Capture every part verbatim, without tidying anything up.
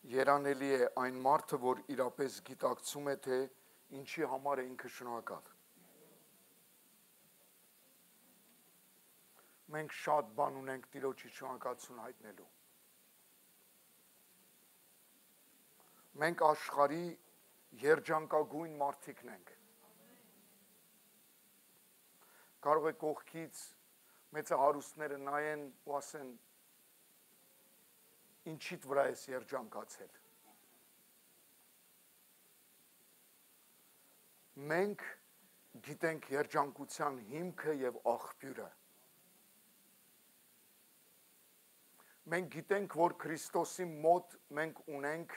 Երանելի է այն մարդը, որ իրապես գիտակցում է, թե ինչի համար է ինքը շնորհակալ։ Մենք շատ բան ունենք Տիրոջի շնորհակալություն հայտնելու։ Մենք աշխարհի երջանկագույն մարդիկն ենք։ Կարող է կողքից մեծահարուստները նայեն ու ասեն, ինչիդ վրա ես երջանկացել։ Մենք գիտենք երջանկության հիմքը եւ աղբյուրը։ Մենք գիտենք, որ Քրիստոսի մոտ մենք ունենք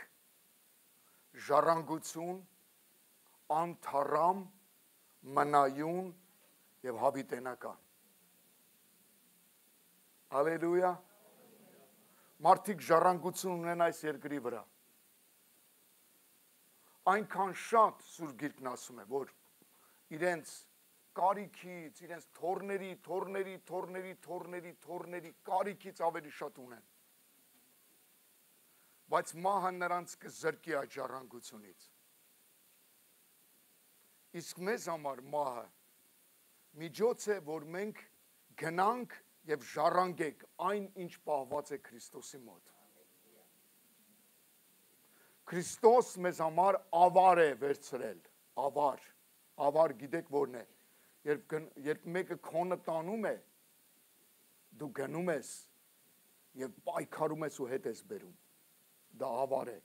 ժառանգություն, անթառամ, մնայուն եւ հավիտենական։ Հալելույա։ Մարդիկ ժառանգություն ունեն այս երկրի վրա։ Այնքան շատ Սուրբ Գիրքն ասում է, որ իրենց կարիքից, իրենց թորների, թորների, թորների, թորների, թորների կարիքից ավելի շատ ունեն։ Բայց մահը նրանց կզրկի այդ ժառանգությունից։ Իսկ մեզ համար մահը միջոց է, որ մենք գնանք եւ ժառանգենք այն, ինչ պահված է Քրիստոսի մոտ։ Քրիստոս մեզ համար ավար է վերցրել, ավար, ավար գիտեք որն է, երբ, երբ մեկը քոնը տանում է, դու գնում ես եւ պայքարում ես ու հետ ես բերում, դա ավար է։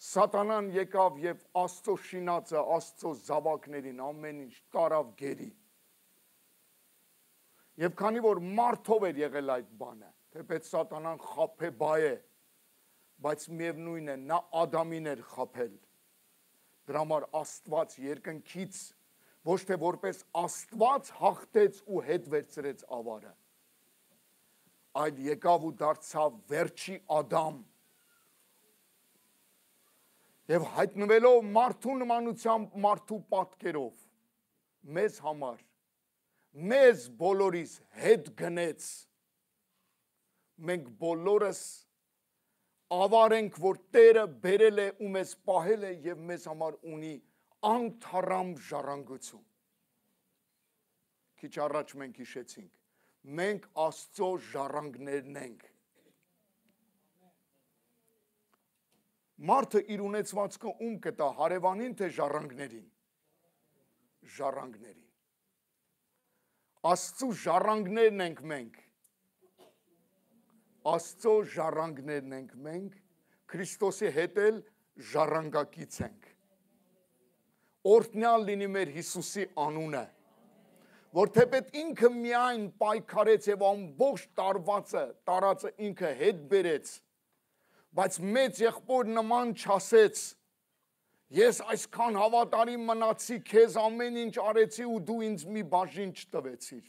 Սատանան եկավ եւ Աստծո շինածը, Աստծո զավակներին ամեն ինչ տարավ գերի։ Եվ քանի որ մարդով էր եղել այդ բանը, թեպետ Սատանան խաբեբայ է, բայց միևնույն է, նա Ադամին էր խաբել։ Դրա համար Աստված երկնքից ոչ թե որպես Աստված հաղթեց ու հետ վերցրեց ավարը, այլ եկավ ու դարձավ վերջի Ադամ։ Եվ հայտնվելով մարդու նմանությամբ, մարդու պատկերով, մեզ համար, մեզ բոլորիս հետ գնեց, մենք բոլորս ավար ենք, որ Տերը բերել է ու մեզ պահել է և մեզ համար ունի անթառամ ժառանգություն։ Քիչ առաջ մենք հիշեցինք, մենք Աստծո ժառանգներն ենք։ Մարդը իր ունեցվածքը ում կտա, հարևանին թե ժառանգներին։ Ժառանգներին։ Աստծո ժառանգներն ենք մենք։ Աստծո ժառանգներն ենք մենք, Քրիստոսի հետ էլ ժառանգակից ենք։ Օրհնյալ լինի մեր Հիսուսի անունը, որ թեպետ ինքը միայն պայքարեց եւ ամբողջ տարվածը, տարածը ինքը հետ բերեց, բայց մեծ եղբոր նման չասեց, ես այսքան հավատարիմ մնացի, քեզ ամեն ինչ արեցի ու դու ինձ մի բաժին չտվեցիր։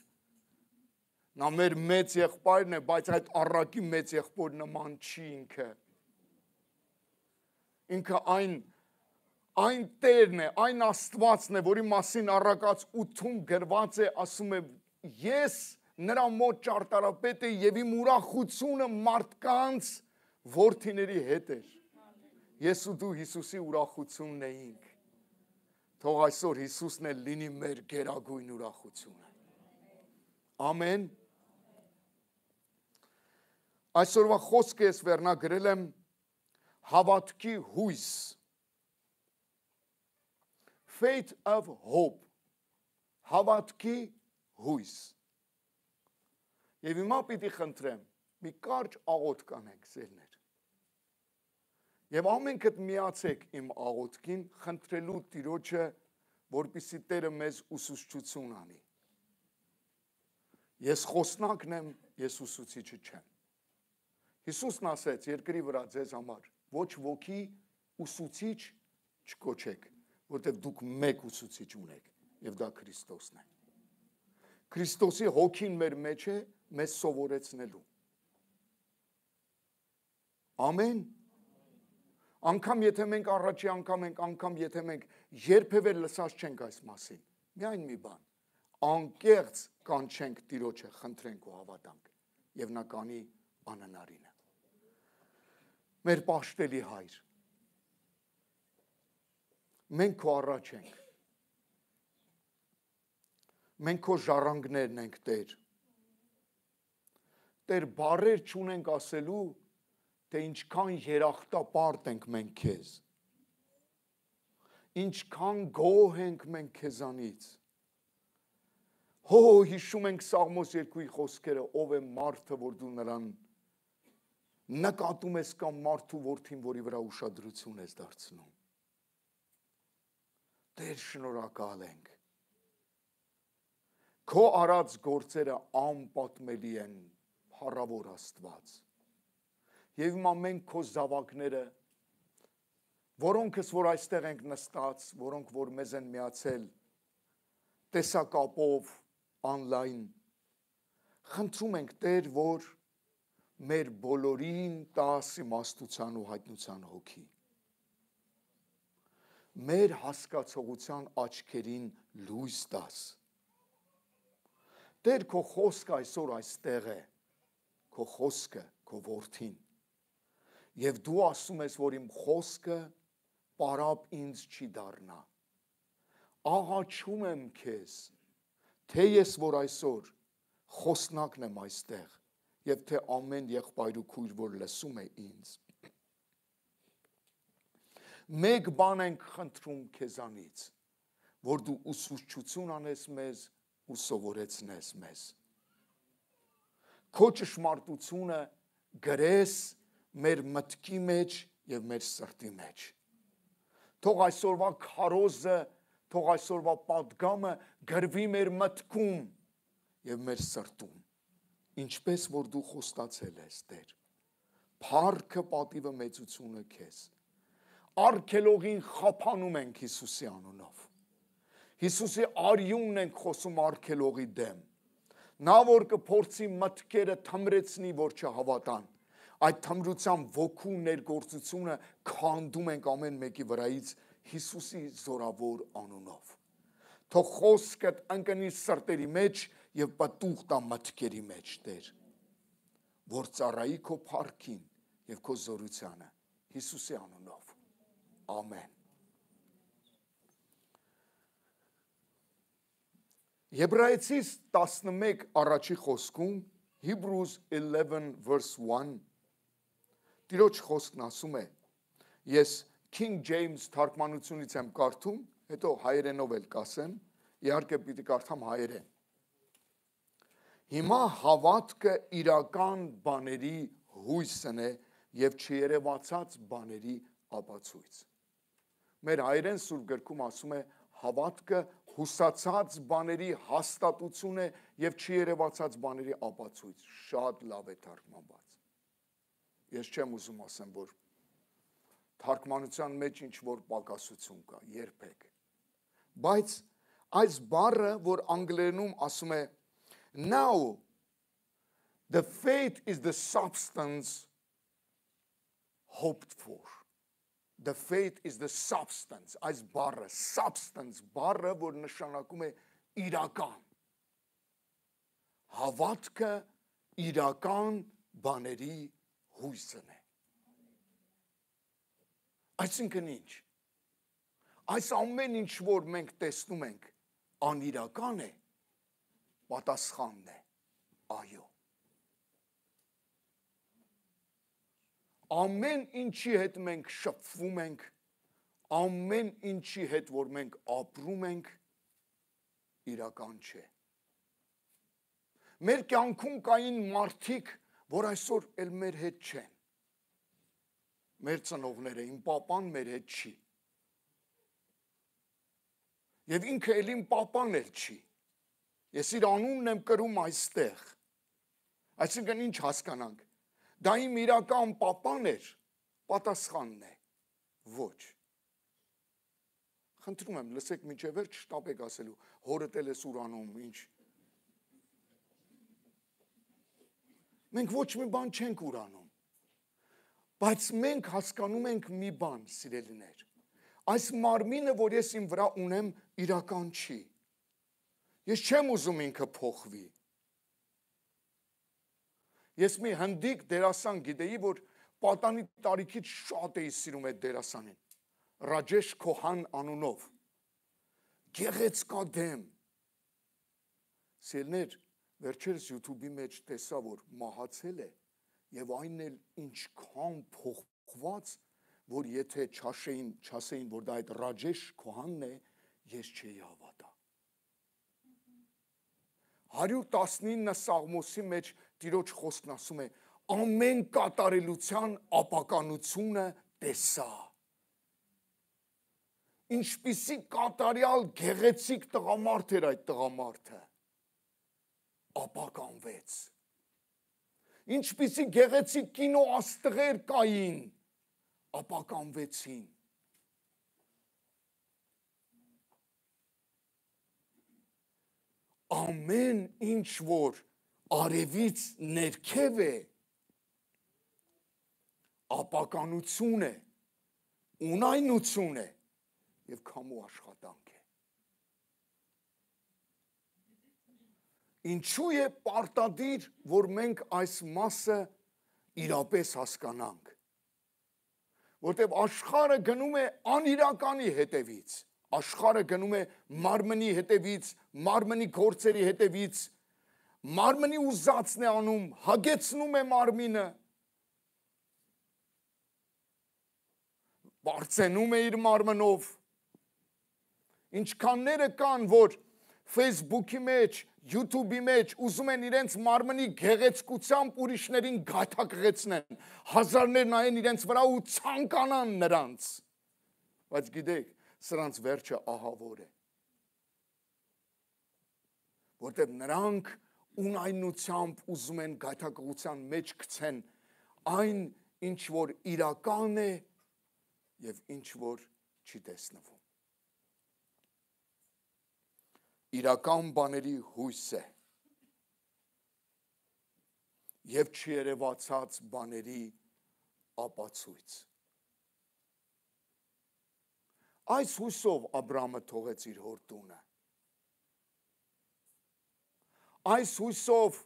Նա մեր մեծ եղբայրն է, բայց այդ առակի մեծ եղբոր նման չի ինքը։ Ինքը այն, այն Տերն է, այն Աստվածն է, որի մասին առակաց ութում գրված է, ասում է, ես նրա մոտ ճարտարապետ է եւ իմ ուրախությունը մարդկանց որդիների հետ էր։ Ես ու դու Հիսուսի ուրախությունն էինք։ Թող այսօր Հիսուսն էլ լինի մեր գերագույն ուրախությունը։ Ամեն։ Այսօրվա խոսքը ես վերնագրել եմ հավատքի հույս։ Faith of hope։ Հավատքի հույս։ Եվ հիմա պիտի խնդրեմ, մի կարճ աղոթք կանենք սերներ։ Եվ ամենքդ միացեք իմ աղոթքին, խնդրելու Տիրոջը, որպեսզի Տերը մեզ ուսուցչություն անի։ Ես խոսնակն եմ, ես ուսուցիչը չեմ։ Հիսուսն ասեց երկրի վրա ձեզ համար, ոչ ոքի ուսուցիչ չկոչեք, որտեղ դուք մեկ ուսուցիչ ունեք, եւ դա Քրիստոսն է։ Քրիստոսի հոգին մեր մեջ է, մեզ սովորեցնելու։ Ամեն։ Անկամ եթե մենք առաջի անգամ ենք, անգամ եթե մենք երբևէ լսած չենք այս մասին, միայն մի բան, անկեղծ կանչենք Տիրոջը, խնդրենք ու հավատանք, եւ նա կանի անհնարինը։ մեր պաշտելի հայր։ Մենք քո առաջ ենք։ Մենք քո ժառանգներն ենք, Տեր։ Տեր, բառեր չունենք ասելու, թե ինչքան երախտապարտ ենք մենք քեզ։ Ինչքան գոհ ենք մենք քեզանից։ Հո հիշում ենք Սաղմոս երկուի խոսքերը, ով է մարդը, որ դու նրան նկատում ես կամ մարդու որդին, որի վրա ուշադրություն ես դարձնում։ Տեր, շնորհակալ ենք։ Քո արած գործերը անպատմելի են, փառավոր Աստված։ Եվ հիմա մենք քո զավակները, որոնքս որ այստեղ ենք նստած, որոնք որ մեզ են միացել տեսակապով, online, խնդրում ենք, Տեր, որ մեր բոլորին տաս իմաստության ու հայտնության հոգի։ Մեր հասկացողության աչքերին լույս տաս։ Տեր, քո խոսքը այսօր այստեղ է, քո խոսքը, քո որդին։ Եվ դու ասում ես, որ իմ խոսքը պարապ ինձ չի դառնա։ Աղաչում եմ քեզ, թե ես որ այսօր խոսնակն եմ այստեղ, եւ թե ամեն եղբայր ու քույր, որ լսում է ինձ։ Մեկ բան ենք խնդրում քեզանից, որ դու ուսուցչություն անես մեզ ու սովորեցնես մեզ։ Քո ճշմարտությունը գրես մեր մտքի մեջ եւ մեր սրտի մեջ։ Թող այսօրվա քարոզը, թող այսօրվա պատգամը գրվի մեր մտքում եւ մեր սրտում։ Ինչպես որ դու խոստացել ես, Տեր, փառքը պատիվը մեծությունը քեզ։ Արգելողին խափանում ենք Հիսուսի անունով։ Հիսուսի արյունն ենք խոսում արգելողի դեմ։ Նա որ կփորձի մտքերը թմրեցնի, որ չհավատան, այդ թմրության ոգու ներգործությունը քանդում ենք ամեն մեկի վրայից Հիսուսի զորավոր անունով։ Թող խոսքդ ընկնի սրտերի մեջ եւ պատուղ տա մտքերի մեջ, Տեր, որ ծառայի քո փառքին եւ քո զորությանը Հիսուսի անունով։ Ամեն։ Եբրայեցիս տասնմեկ առաջի խոսքում, Hebrews eleven verse one, Տիրոջ խոսքն ասում է, ես King James թարգմանությունից եմ կարդում, հետո հայերենով էլ կասեմ, իհարկե պիտի կարդամ հայերեն։ Հիմա հավատքը իրական բաների հույսն է եւ չերևացած բաների ապացույց։ Մեր հայերեն սուրբ գրքում ասում է հավատքը հուսացած բաների հաստատություն է եւ չերևացած բաների ապացույց։ Շատ լավ է թարգմանված։ Ես չեմ ուզում ասեմ, որ թարգմանության մեջ ինչ որ պակասություն կա, երբեք։ Բայց այս բառը, որ անգլերենում ասում է now the faith is the substance hoped for. The faith is the substance. Այս բառը, substance, բառը, որ նշանակում է իրական։ Հավատքը իրական բաների հույսն է։ Այսինքն ինչ։ Այս ամեն ինչ, որ մենք տեսնում ենք, անիրական է, պատասխանն է, այո։ Ամեն ինչի հետ մենք շփվում ենք, ամեն ինչի հետ, որ մենք ապրում ենք, իրական չէ։ Մեր կյանքում կային մարդիկ, որ այսօր էլ մեր հետ չեն։ Մեր ծնողները, իմ պապան մեր հետ չի։ Եվ ինքը էլ իմ պապան էլ չի։ Ես իր անունն եմ կրում այստեղ։ Այսինքն ինչ հասկանանք։ Դա իմ իրական պապան էր, պատասխանն է, ոչ։ Խնդրում եմ, լսեք մինչև վերջ շտապեք ասելու, հորդ էլ ես ուրանում, ինչ։ Մենք ոչ մի բան չենք ուրանում, բայց մենք հասկանում ենք մի բան, սիրելիներ, այս մարմինը, որ ես իմ վրա ունեմ, իրական չի։ Ես չեմ ուզում ինքը փոխվի։ Ես մի հնդիկ դերասան գիտեի, որ պատանի տարիքից շատ էի սիրում այդ դերասանին։ Ռաջեշ Քոհան անունով։ Գեղեցկա դեմ։ Սիրներ, վերջերս YouTube-ի մեջ տեսա, որ մահացել է, եւ այն էլ ինչքան փոխված, որ եթե չաշեին, չասեին, որ դա այդ Ռաջեշ Քոհանն է, ես չէի հավատա։ հարյուր տասնինը Սաղմոսի մեջ Տիրոջ խոսքն ասում է, ամեն կատարելության ապականությունը տեսա։ Ինչպիսի կատարյալ գեղեցիկ տղամարդ էր այդ տղամարդը, ապականվեց։ Ինչպիսի գեղեցիկ կինո աստղեր կային, ապականվեցին։ Ամեն ինչ որ արևից ներքև է, ապականություն է, ունայնություն է եւ քամու աշխատանք է։ Ինչու է պարտադիր, որ մենք այս մասը իրապես հասկանանք, որտեղ աշխարհը գնում է անիրականի հետևից, աշխարհը գնում է մարմնի հետևից, մարմնի գործերի հետևից, մարմնի ուզածն է անում, հագեցնում է մարմինը, բարձենում է իր մարմնով։ Ինչքանները կան, որ Facebook-ի մեջ, YouTube-ի մեջ ուզում են իրենց մարմնի գեղեցկությամբ ուրիշներին գաթակղեցնեն, հազարներ նայեն իրենց վրա ու ցանկանան նրանց։ Բայց գիտեք, սրանց վերջը ահավոր է։ Որտեղ նրանք ունայնությամբ ուզում են գաթակղության մեջ գցեն այն, ինչ որ իրական է եւ ինչ որ չի տեսնվում։ Իրական բաների հույս է եւ չերևացած բաների ապացույց։ Այս հույսով Աբրահամը թողեց իր հոր տունը։ Այս հույսով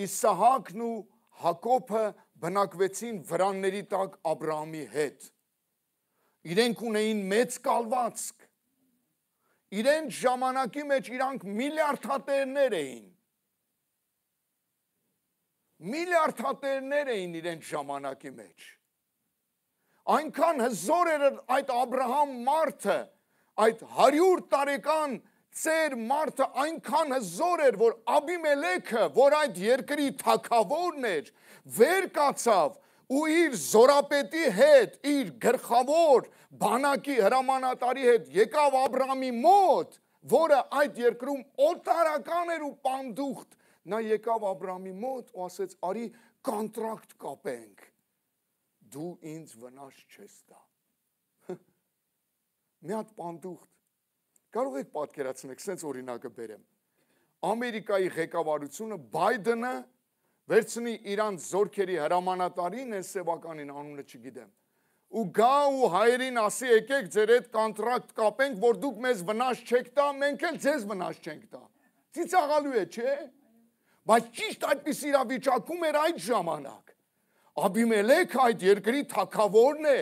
Իսահակն ու Հակոբը բնակվեցին վրանների տակ Աբրահամի հետ։ Իրենք ունեին մեծ կալվածք։ Իրենց ժամանակի մեջ իրանք միլիարդատերներ էին։ Միլիարդատերներ էին իրենց ժամանակի մեջ։ Այնքան հզոր էր այդ Աբրահամ մարդը, այդ հարյուր տարեկան ծեր մարդը այնքան հզոր էր, որ Աբիմելեքը, որ այդ երկրի թագավորն էր, վեր կացավ ու իր զորապետի հետ, իր գլխավոր բանակի հրամանատարի հետ եկավ Աբրահամի մոտ, որը այդ երկրում օտարական էր ու պանդուխտ, նա եկավ Աբրահամի մոտ ու ասեց, արի կոնտրակտ կապենք, դու ինձ վնաս չես տա։ Մի հատ պանդուխտ, կարող եք պատկերացնել, սենց օրինակը բերեմ, Ամերիկայի ղեկավարությունը Բայդենը վերցնի իրանց զորքերի հրամանատարին, են սևականին անունը չգիտեմ, ու գա ու հայերին ասի, եկեք ձեր հետ կոնտրակտ կապենք, որ դուք մեզ վնաս չեք տա, մենք էլ ձեզ վնաս չենք տա։ Ծիծաղալու է, չէ՞։ Բայց ճիշտ այդպես իրավիճակում էր այդ ժամանակ։ Աբիմելեքը այդ երկրի թագավորն է։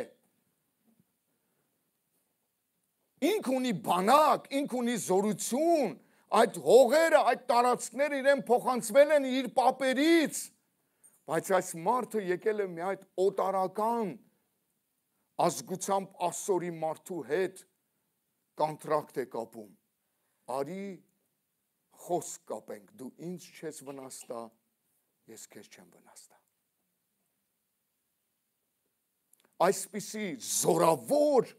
Ինք ունի բանակ, ինք ունի զորություն, այդ հողերը, այդ տարածքները իրեն փոխանցվել են իր պապերից, բայց այս մարդը եկել է մի այդ օտարական ազգությամբ ասորի մարդու հետ կոնտրակտ է կապում, արի խոսք կապենք, դու ինձ չես վնաստա, ես քեզ չեմ վնաստա։ Այսպիսի զորավոր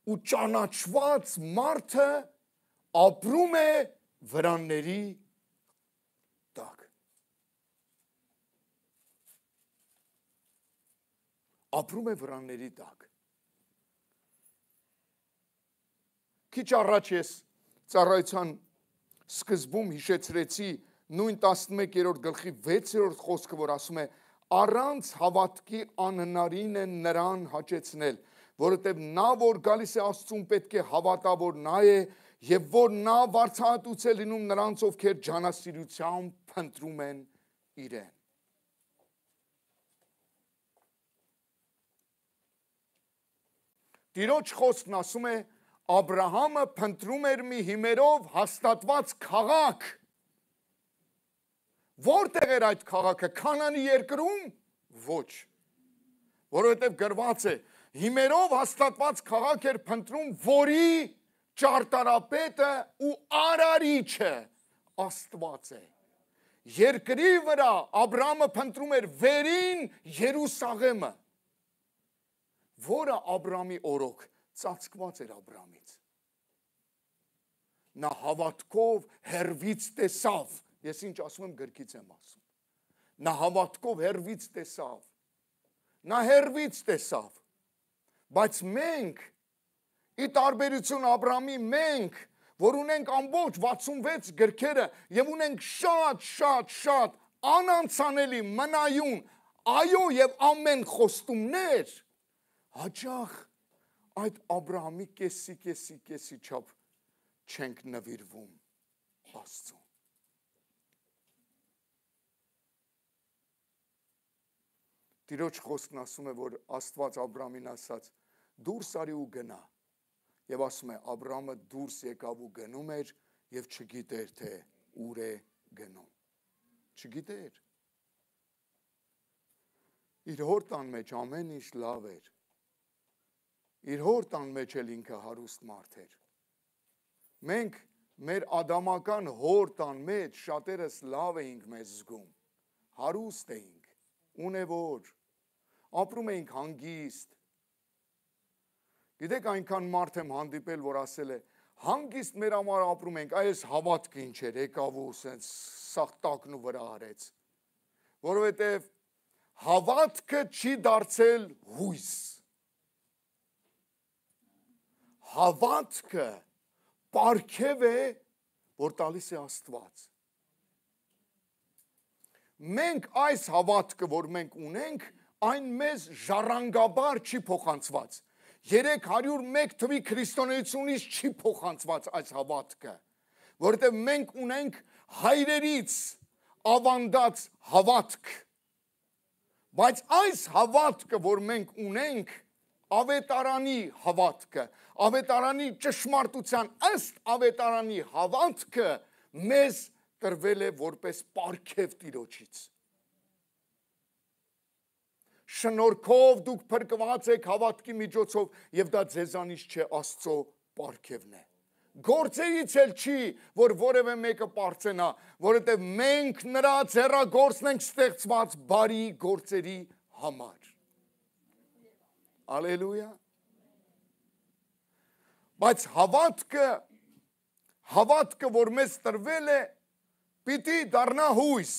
ու ճանաչված մարդը ապրում է վրանների տակ։ Ապրում է վրանների տակ։ Քիչ առաջ ես ծառայության սկզբում հիշեցրեցի նույն տասնմեկերորդ գլխի վեցերորդ խոսքը, որ ասում է առանց հավատքի անհնարին է նրան հաճեցնել, որովհետև նա, որ գալիս է Աստծուն, պետք է հավատա, որ նա է, եւ որ նա վարձահատուց է լինում նրանց, ովքեր ջանասիրությամբ փնտրում են իրեն։ Տիրոջ խոսքն ասում է Աբրահամը փնտրում էր մի հիմերով հաստատված քաղաք։ Որտեղ էր այդ քաղաքը, Քանանի երկրում։ Ոչ, որովհետև գրված է հիմերով հաստատված քաղաք էր փնտրում, որի ճարտարապետը ու արարիչը Աստված է։ Երկրի վրա Աբրահամը փնտրում էր վերին Երուսաղեմը, որը Աբրահամի օրոք ծածկված էր Աբրահամից։ Նա հավատքով հեռվից տեսավ, ես ինչ ասում եմ գրքից եմ ասում, նա հավատքով հեռվից տեսավ, նա հեռվից տեսավ, բայց մենք, ի տարբերություն Աբրահամի, մենք, որ ունենք ամբողջ վաթսունվեց գրքերը և ունենք շատ, շատ, շատ անանցանելի, մնայուն, այո և ամեն խոստումներ, հաճախ այդ Աբրահամի կեսի, կեսի, կեսի չափ չենք նվիրվում Աստծուն։ Տիրոջ խոսքն ասում է, որ Աստված Աբրահամին ասաց, դուրս արի ու գնա։ Եվ ասում է, Աբրահամը դուրս եկավ ու գնում էր և չգիտեր, թե ուր է գնում։ Չգիտեր։ Իր հոր տան մեջ ամեն ինչ լավ էր։ Իր հոր տան մեջ էլ ինքը հարուստ մարդ էր։ Մենք մեր ադամական հոր տան մեջ շատերս լավ էինք մեզ զգում, հարուստ էինք, ունևոր, ապրում էինք հանգիստ։ Գիտեք, այնքան մարդ եմ հանդիպել, որ ասել է, հանգիստ մեր համար ապրում ենք, այս հավատքը ինչ էր, եկավ ու սենց սաղ տակնու վրա արեց, որովհետև հավատքը չի դարձել հույս, հավատքը պարգև է, որ տալիս է Աստված։ Մենք այս հավատքը, որ մենք ունենք, այն մեզ ժառանգաբար չի փոխանցված։ երեք հարյուր մեկ թվի քրիստոնեությունից չի փոխանցված այս հավատքը, որովհետև մենք ունենք հայրերից ավանդած հավատք, բայց այս հավատքը, որ մենք ունենք, ավետարանի հավատքը, ավետարանի ճշմարտության ըստ ավետարանի հավատքը մեզ տրվել է որպես պարգև Տիրոջից։ Շնորհքով դուք փրկված եք հավատքի միջոցով և դա ձեզանից չէ, Աստծո պարգևն է։ Գործերից էլ չի, որ որևէ մեկը պարծենա, որովհետև մենք նրա ձեռագործն ենք ստեղծված բարի գործերի համար։ Ալելույա։ Բայց հավատքը, հավատքը, որ մեզ տրվել է, պիտի դառնա հույս։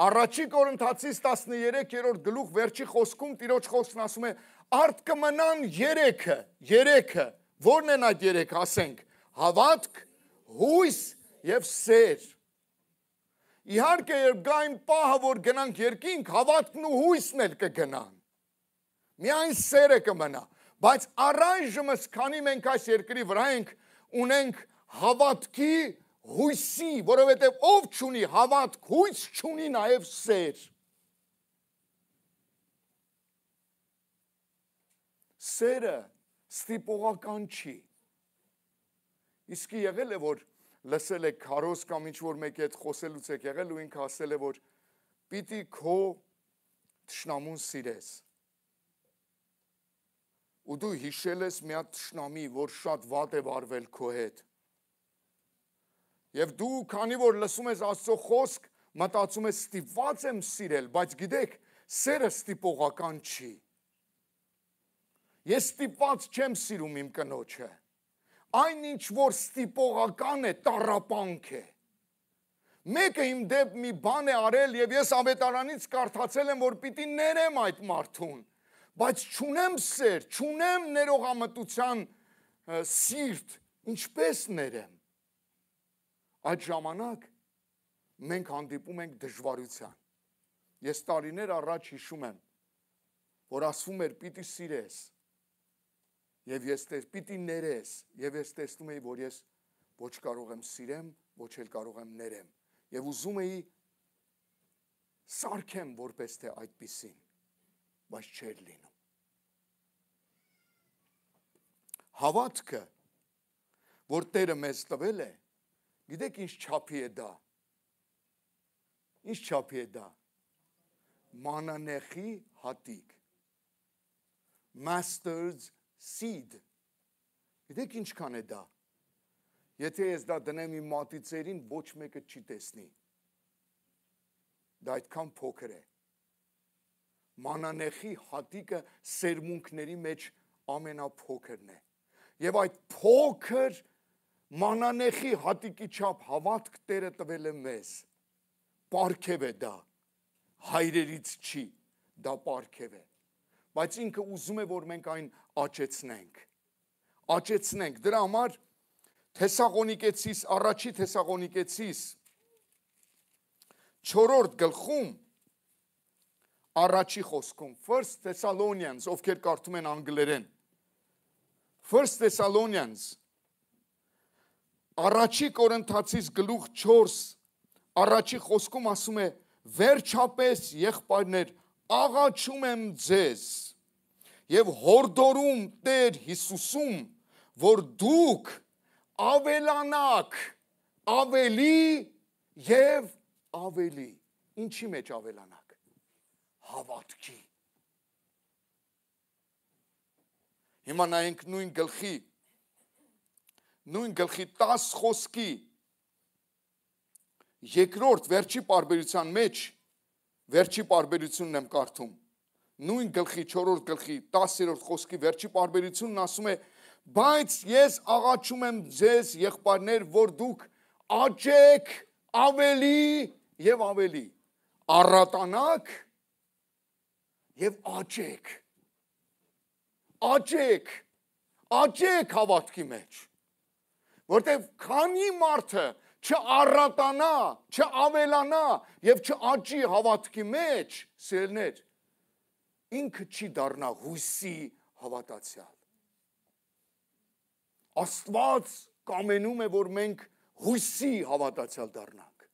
Առաջի Կորինթացիս տասներեքերորդ գլուխ վերջի խոսքում Տիրոջ խոսքն ասում է, արդ կմնան երեքը, երեքը, որն են այդ երեքը, ասենք, հավատք, հույս և սեր։ Իհարկե, երբ գա այն պահը, որ գնանք երկինք, հավատքն ու հույսն էլ կգնան։ Միայն սերը կմնա, բայց առայժմս, քանի մենք այս երկրի վրա ենք, ունենք հավատքի հույսի, որովհետև ով չունի հավատք, հույս չունի նաև սեր։ Սերը ստիպողական չի։ Իսկի եղել է, որ լսել եք քարոզ կամ ինչ-որ մեկի հետ խոսելուց եք եղել ու ինքը ասել է, որ պիտի քո թշնամուն սիրես։ Ու դու հիշել ես մի հատ թշնամի, որ շատ վատ է վարվել քո հետ։ Եվ դու, քանի որ լսում ես Աստծո խոսք, մտածում ես ստիպված եմ սիրել, բայց գիտեք, սերը ստիպողական չի։ Ես ստիպված չեմ սիրում իմ կնոջը։ Այն ինչ որ ստիպողական է, տառապանք է։ Մեկը իմ դեպ մի բան է արել եւ ես ավետարանից կարդացել եմ, որ պիտի ներեմ այդ մարդուն, բայց չունեմ սեր, չունեմ ներողամտության սիրտ, ինչպես ներեմ։ Այդ ժամանակ մենք հանդիպում ենք դժվարության։ Ես տարիներ առաջ հիշում եմ, որ ասվում էր պիտի սիրես, և ես տես, պիտի ներես, և ես տեսնում էի, որ ես ոչ կարող եմ սիրեմ, ոչ էլ կարող եմ ներեմ, և ուզում էի սարքեմ որպես թե այդպիսին, բայց չէր լինում։ Հավատքը, որ Տերը մեզ տվել է, գիտեք ինչ չափի է դա։ Ինչ չափի է դա։ Մանանեխի հատիկ։ Master's seed։ Գիտեք ինչքան է դա։ Եթե ես դա դնեմ իմ մատիցերին, ոչ մեկը չի տեսնի։ Դա այդքան փոքր է։ Մանանեխի հատիկը սերմունքների մեջ ամենափոքրն է։ Եվ այդ փոքր մանանեխի հատիկի չափ հավատք Տերը տվել է մեզ։ Պարգև է դա։ Հայրերից չի, դա պարգև է։ Բայց ինքը ուզում է, որ մենք այն աճեցնենք։ Աճեցնենք։ Դրա համար Թեսաղոնիկեցիս, առաջի Թեսաղոնիկեցիս չորրորդ գլխում առաջի խոսքում First Thessalonians, ովքեր կարդում են անգլերեն, First Thessalonians առաջի Կորինթացիս գլուխ չորս առաջի խոսքում ասում է վերջապես եղբայրներ աղաչում եմ ձեզ եւ հորդորում Տեր Հիսուսում, որ դուք ավելանաք ավելի եւ ավելի։ Ինչի մեջ ավելանաք։ Հավատքի։ Հիմա նայենք նույն գլխի նույն գլխի տաս խոսքի երկրորդ վերջի պարբերության մեջ վերջի պարբերությունն եմ կարդում նույն գլխի չորրորդ գլխի տասերորդ խոսքի վերջի պարբերությունն ասում է բայց ես աղաչում եմ ձեզ եղբայրներ, որ դուք աճեք ավելի եւ ավելի, առատանաք եւ աճեք, աճեք, աճեք հավատքի մեջ, որտեւ քանի մարդը չառատանա, չավելանա եւ չաճի հավատքի մեջ, սիրելներ, ինքը չի դառնա հույսի հավատացյալ։ Աստված կամենում է, որ մենք հույսի հավատացյալ դառնանք։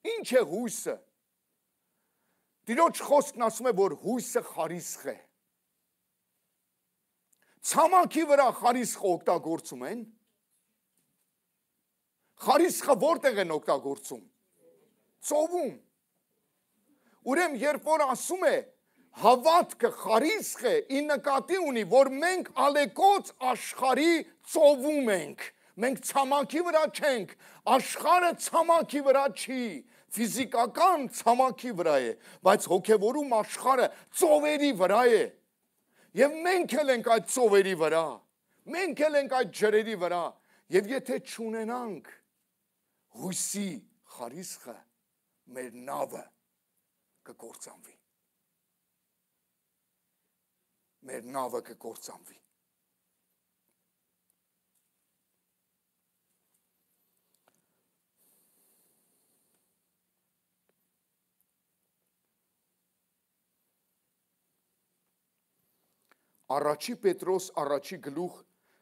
Ինչ է հույսը։ Տիրոջ խոսքն ասում է, որ հույսը խարիսխ է։ Ցամաքի վրա խարիսխը օգտագործում են։ Խարիսխը որտեղ են օգտագործում։ Ծովում։ Ուրեմն երբ որ ասում է հավատքը խարիսխ է, ի նկատի ունի, որ մենք ալեկոծ աշխարհի ծովում ենք, մենք ցամաքի վրա չենք, աշխարհը ցամաքի վրա չի, ֆիզիկական ցամաքի վրա է, բայց հոգևորում աշխարհը ծովերի վրա է, եւ մենք էլ ենք այդ ծովերի վրա, մենք էլ ենք այդ ջրերի վրա, եւ եթե չունենանք հույսի խարիսխը, մեր նավը կկործանվի։ Մեր նավը կկործանվի։ Առաջի Պետրոս առաջի գլուխ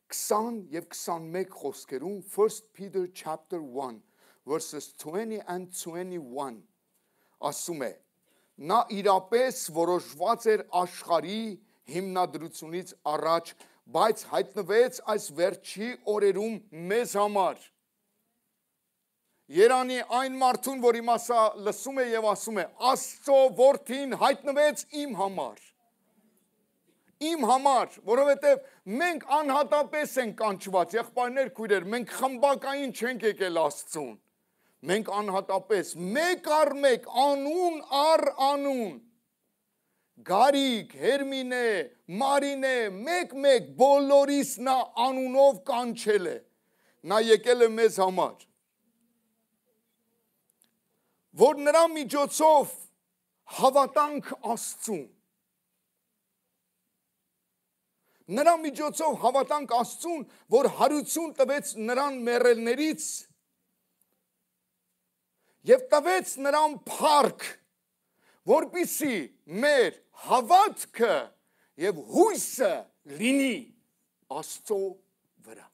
քսան եւ քսանմեկ խոսքերում First Peter chapter one verses twenty and twenty-one ասում է նա իրապես որոշված էր աշխարհի հիմնադրությունից առաջ, բայց հայտնվեց այս վերջի օրերում մեզ համար։ Երանի այն մարդուն, որ իմասա լսում է եւ ասում է, Աստծո որդին հայտնվեց իմ համար։ Իմ համար, որովհետև մենք անհատապես ենք կանչված, եղբայրներ, քույրեր, մենք խմբակային չենք եկել Աստծուն։ Մենք անհատապես, մեկ առ մեկ, անուն առ անուն, Գարիկ, Հերմինե, Մարինե, մեկ-մեկ, բոլորիս նա անունով կանչել է, նա եկել է մեզ համար, որ նրա միջոցով հավատանք Աստծուն, նրա միջոցով հավատանք Աստծուն, որ հարություն տվեց նրան մեռելներից եւ տվեց նրան փառք, որպիսի մեր հավատքը եւ հույսը լինի Աստծո վրա։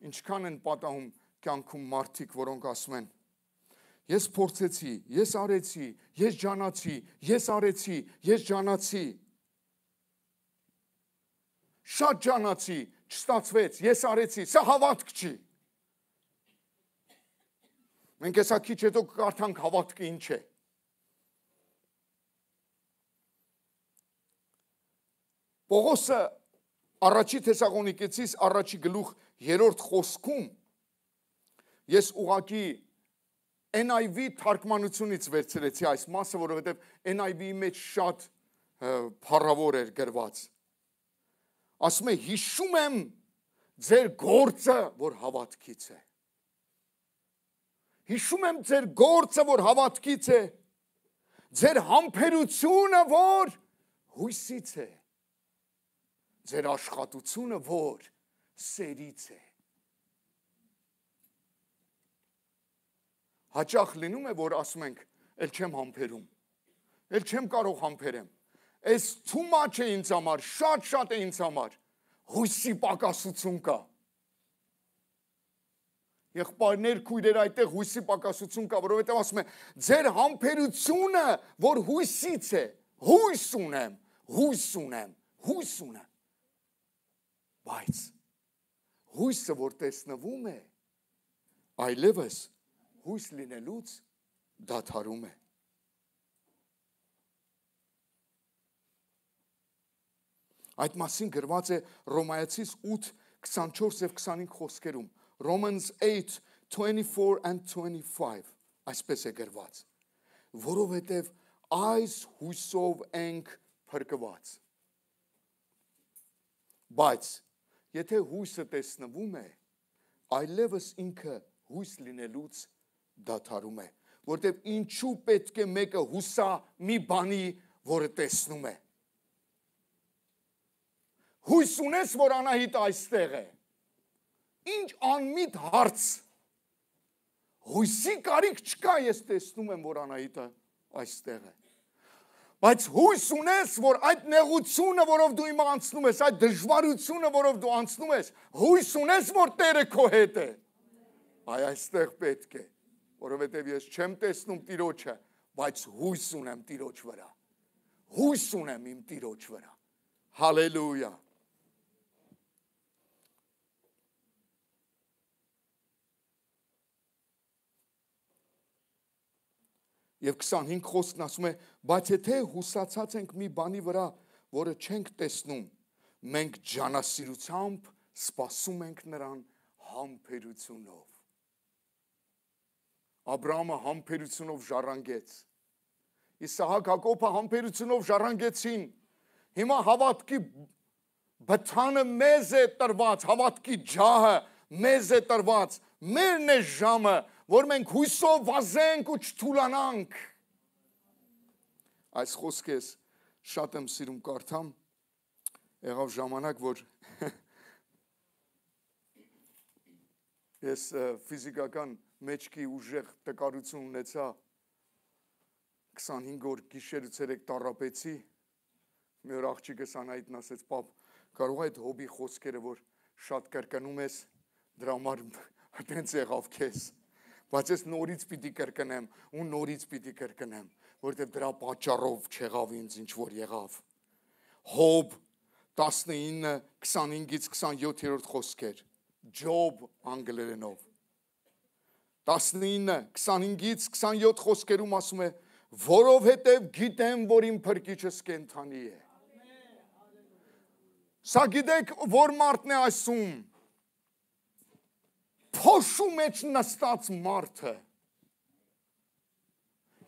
Ինչքան են պատահում, կյանքում մարդիկ, որոնք ասում են. ես փորձեցի, ես արեցի, ես ջանացի, ես արեցի, ես ջանացի։ Շատ ջանացի, չստացվեց, ես արեցի, սա հավատք չի։ Մենք հեսա քիչ հետո կարդանք հավատքը ինչ է։ Պողոսը առաջի Թեսաղոնիկեցիս առաջի գլուխ երրորդ խոսքում ես ուղղակի N I V թարգմանությունից վերցրեցի այս մասը, որովհետև N I V-ի մեջ շատ փառավոր էր գրված։ Ասում է հիշում եմ ձեր գործը, որ հավատքից է։ Հիշում եմ ձեր գործը, որ հավատքից է, ձեր համբերությունը, որ հույսից է, ձեր աշխատությունը, որ սերից է։ Հաճախ լինում է, որ ասում ենք, էլ չեմ համբերում, էլ չեմ կարող համբերեմ, այս too much է ինձ համար, շատ-շատ է ինձ համար, հույսի պակասություն կա։ Եղբայրներ, քույրեր այդտեղ հույսի պակասություն կա, որովհետև ասում է, ձեր համբերությունը, որ հույսից է, հույս ունեմ, հույս ունեմ, հույս ունեմ։ Բայց հույսը, որ տեսնվում է, այլևս հույս լինելուց դադարում է։ Այդ մասին գրված է Ռոմայացիս ութ քսանչորս եւ քսանհինգ խոսքերում։ Romans eight twenty-four and twenty-five այսպես է գրված, որովհետև այս հույսով ենք փրկված։ Բայց եթե հույսը տեսնվում է, այլևս ինքը հույս լինելուց դադարում է, որտեղ ինչու պետք է մեկը հուսա մի բանի, որը տեսնում է։ Հույս ունես, որ Անահիտ այստեղ է։ Ինչ անմիտ հարց։ Հույսի կարիք չկա, ես տեսնում եմ, որ Անահիտը այստեղ է։ Բայց հույս ունես, որ այդ նեղությունը, որով դու հիմա անցնում ես, այդ դժվարությունը, որով դու անցնում ես, հույս ունես, որ Տերը քո հետ է։ Այ այստեղ պետք է, որովհետև ես չեմ տեսնում Տիրոջը, բայց հույս ունեմ Տիրոջ վրա։ Հույս ունեմ իմ Տիրոջ վրա։ Հալելույա։ Եվ քսանհինգ խոսքն ասում է, բայց եթե հուսացած ենք մի բանի վրա, որը չենք տեսնում, մենք ջանասիրությամբ սպասում ենք նրան համբերությունով։ Աբրահամը համբերությունով ժառանգեց։ Իսահակ Հակոբը համբերությունով ժառանգեցին։ Հիմա հավատքի բթանը մեզ է տրված, հավատքի ջահը մեզ է տրված, մերն է ժամը, որ մենք հույսով վազենք ու չթուլանանք։ Այս խոսքը ես շատ եմ սիրում կարդամ, եղավ ժամանակ, որ ես ֆիզիկական մեջքի ուժեղ տկարություն ունեցա, քսանհինգ օր գիշերից երեկ տառապեցի, մի օր աղջիկս Անահիտն ասեց, պապ, կարող է այդ հոբի խոսքերը, որ շատ կրկնում ես, դրա համար այդպես եղավ քեզ, բայց ես նորից պիտի կրկնեմ ու նորից պիտի կրկնեմ, որովհետև դրա պատճառով չեղավ ինձ ինչ որ եղավ։ Հոբ տասնինը քսանհինգից քսանյոթերորդ խոսքեր, Ջոբ անգլերենով։ տասնինը քսանհինգից քսանյոթ խոսքերում ասում է, որովհետև գիտեմ, որ իմ փրկիչս կենդանի է։ Սա գիտեք, որ մարդն է ասում, փոշու մեջ նստած մարդը,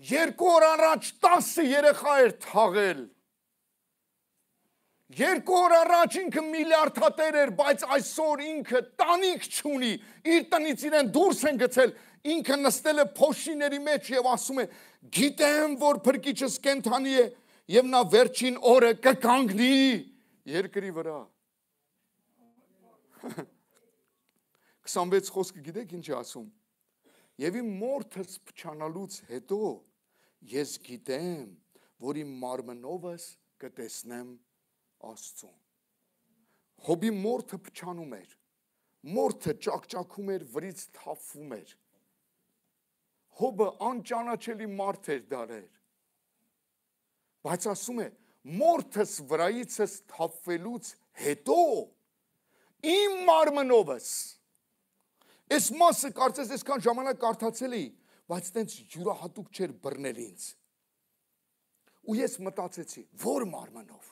երկու օր առաջ տասը երեխա էր թաղել, երկու օր առաջ ինքը միլիարդատեր էր, բայց այսօր ինքը տանիք չունի, իր տնից իրեն դուրս են գցել, ինքը նստել է փոշիների մեջ և ասում է, գիտեմ, որ փրկիչս կենդանի է, և նա վերջին օրը կկանգնի երկրի վրա։ քսանվեց խոսքը գիտեք ինչ է ասում, և իմ մորթս փչանալուց հետո ես գիտեմ, որ իմ մարմնովս կտեսնեմ Աստծուն։ Հոբի մորթը փչանում էր, մորթը ճակճակում էր, վրից թափվում էր։ Հոբը անճանաչելի մարդ էր դարեր։ Բայց ասում է, մորթս վրայիցս թափվելուց հետո իմ մարմնովս, այս մասը կարծես այսքան ժամանակ կարդացել էի, բայց տենց յուրահատուկ չէր բռնել ինձ։ Ու ես մտածեցի, որ մարմնով,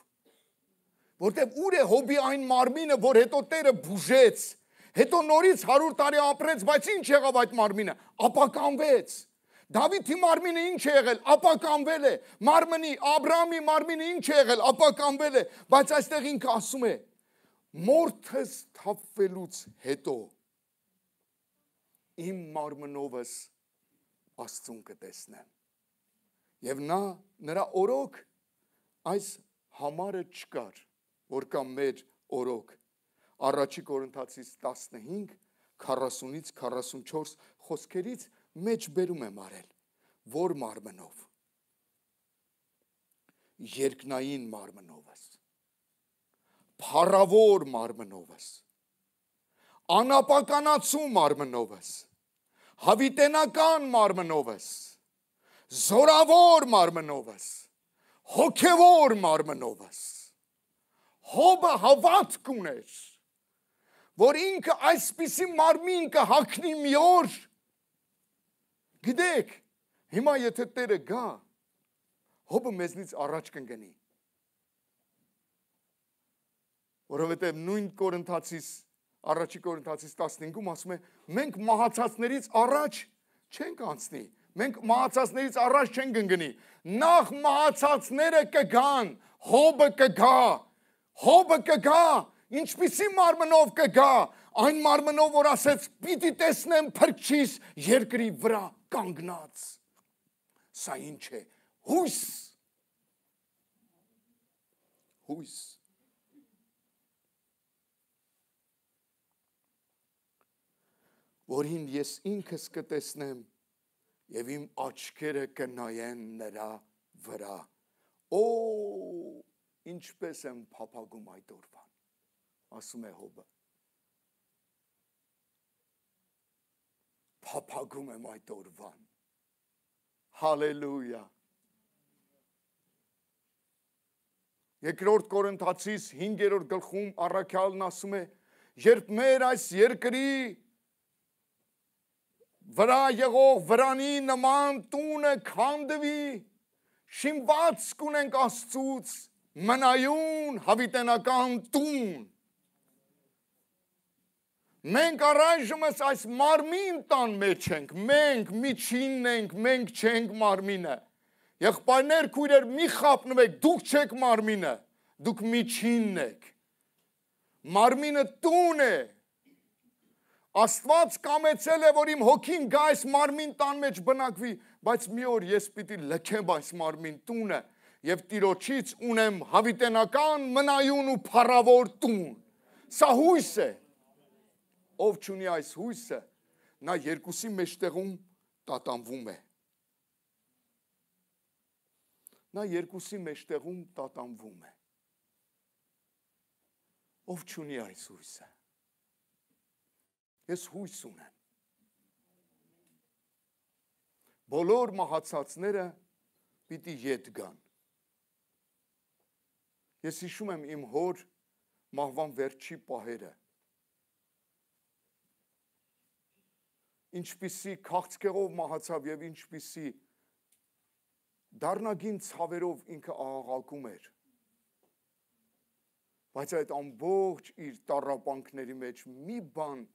որտև ուր է Հոբի այն մարմինը, որ հետո Տերը բուժեց, հետո նորից հարյուր տարի ապրեց, բայց ինչ եղավ այդ մարմինը, ապականվեց։ Դավիթի մարմինը ինչ է եղել, ապականվել է, մարմնի, Աբրահամի մարմինը ինչ է եղել, ապականվել է, բայց այստեղ ինքը ասում է, մորթս թափվելուց հետո իմ մարմնովս Աստծուն կտեսնեմ։ Եվ նա, նրա օրոք այս համարը չկար, որ կա մեր օրոք, առաջի Կորինթացիս տասնհինգ, քառասունից քառասունչորս խոսքերից մեջ բերում եմ արել, որ մարմնով, երկնային մարմնովս, փառավոր մարմնովս, անապականացու մարմնովս, հավիտենական մարմնովս, զորավոր մարմնովս, հոգևոր մարմնովս, Հոբը հավատք ուներ, որ ինքը այսպիսի մարմին կհագնի մի օր, գիտեք, հիմա եթե Տերը գա, Հոբը մեզնից առաջ կընկնի, որովհետև նույն Կորինթացիս, առաջի Կորինթացիս տասնհինգում ասում է, մենք մահացածներից առաջ չենք անցնի, մենք մահացածներից առաջ չենք ընկնի, նախ մահացածները կգան, Հոբը կգա, Հոբը կգա, ինչպիսի մարմնով կգա, այն մարմնով, որ ասեց, պիտի տեսնեմ փրկչիս երկրի վրա կանգնած, սա ինչ է, հույս, հույս, որին ես ինքս կտեսնեմ և իմ աչքերը կնայեն նրա վրա, օ, ինչպես եմ փափագում այդ օրվան, ասում է Հոբը, փափագում եմ այդ օրվան, հալելույա, երկրորդ Կորինթացիս հինգերորդ գլխում առաքյալն ասում է, երբ մեր այս երկրի վրա եղող վրանի նման տունը քանդվի, շինված կունենք Աստծուց, մնայուն հավիտենական տուն, մենք առայժմս այս մարմին տան մեջ ենք, մենք միջինն ենք, մենք չենք մարմինը, եղբայրներ, քույրեր, մի խաբնվեք, դուք չեք մարմինը, դուք միջինն եք, մարմինը տուն է, Աստված կամեցել է, որ իմ հոգին գա այս մարմին տան մեջ բնակվի, բայց մի օր ես պիտի լքեմ այս մարմին տունը և Տիրոջից ունեմ հավիտենական, մնայուն ու փառավոր տուն, սա հույս է, ով չունի այս հույսը, նա երկուսի մեջտեղում տատանվում է, նա երկուսի մեջտեղում տատանվում է, ով չունի այս հույսը, ես հույս ունեմ, բոլոր մահացածները պիտի ետ գան, ես հիշում եմ իմ հոր մահվան վերջի պահերը, ինչպիսի քաղցկեղով մահացավ և ինչպիսի դառնագին ցավերով ինքը աղաղակում էր, բայց այդ ամբողջ իր տառապանքների մեջ մի բան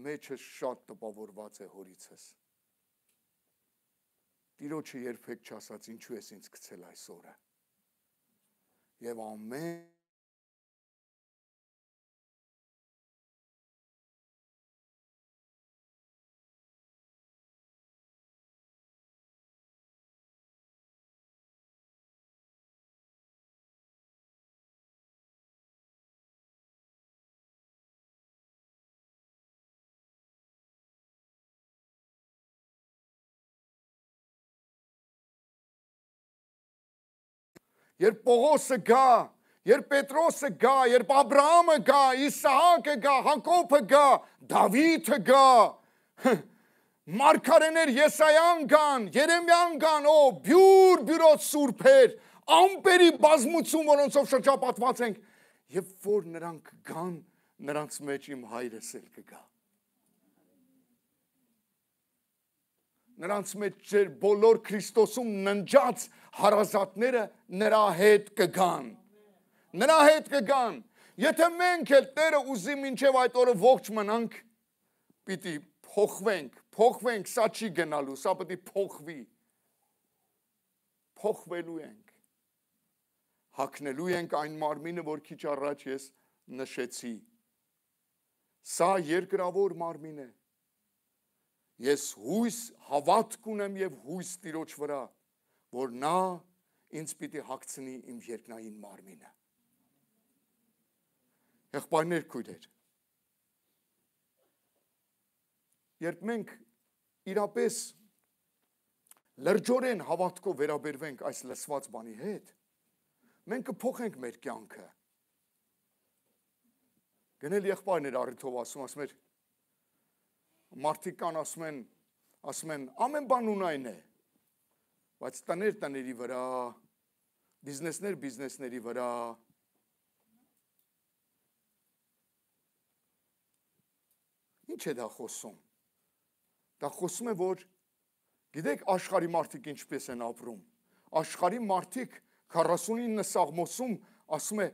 մեջս շատ տպավորված է հորիցս, Տիրոջը երբեք չասաց, ինչու ես ինձ գցել այս օրը, և ամեն Երբ Պողոսը գա երբ Պետրոսը գա, երբ Աբրահամը գա, Իսահակը գա, Հակոբը գա, Դավիթը գա, Մարգարեներ Եսայան գան, Երեմիան գան, օ, բյուր բյուրոց սուրբեր, ամպերի բազմություն, որոնցով շրջապատված ենք, եւ որ նրանք գան, նրանց մեջ իմ հայրս էլ կգա։ Նրանց մեջ ձեր բոլոր Քրիստոսում ննջած հարազատները նրա հետ կգան։ Նրա հետ կգան։ Եթե մենք էլ Տերը ուզի մինչև այդ օրը ողջ մնանք, պիտի փոխվենք, փոխվենք, սա չի գնալու, սա պիտի փոխվի։ Փոխվելու ենք։ Հագնելու ենք այն մարմինը, որ քիչ առաջ ես նշեցի։ Սա երկրավոր մարմին է։ Ես հույս հավատք ունեմ եւ հույս Տիրոջ վրա, որ նա ինձ պիտի հագցնի իմ երկնային մարմինը։ Եղբայրներ, քույրեր, երբ մենք իրապես լրջորեն հավատքով վերաբերվենք այս լսված բանի հետ, մենք կփոխենք մեր կյանքը։ Գնել եղբայրներ առիթով ասում, ասում էր, մարդիկ կան ասում են, ասում են, ամեն բան ունայն է, բայց տներ տների վրա, բիզնեսներ բիզնեսների վրա, ինչ է դա խոսում, դա խոսում է, որ գիտեք աշխարհի մարդիկ ինչպես են ապրում, աշխարհի մարդիկ քառասունինը Սաղմոսում ասում է,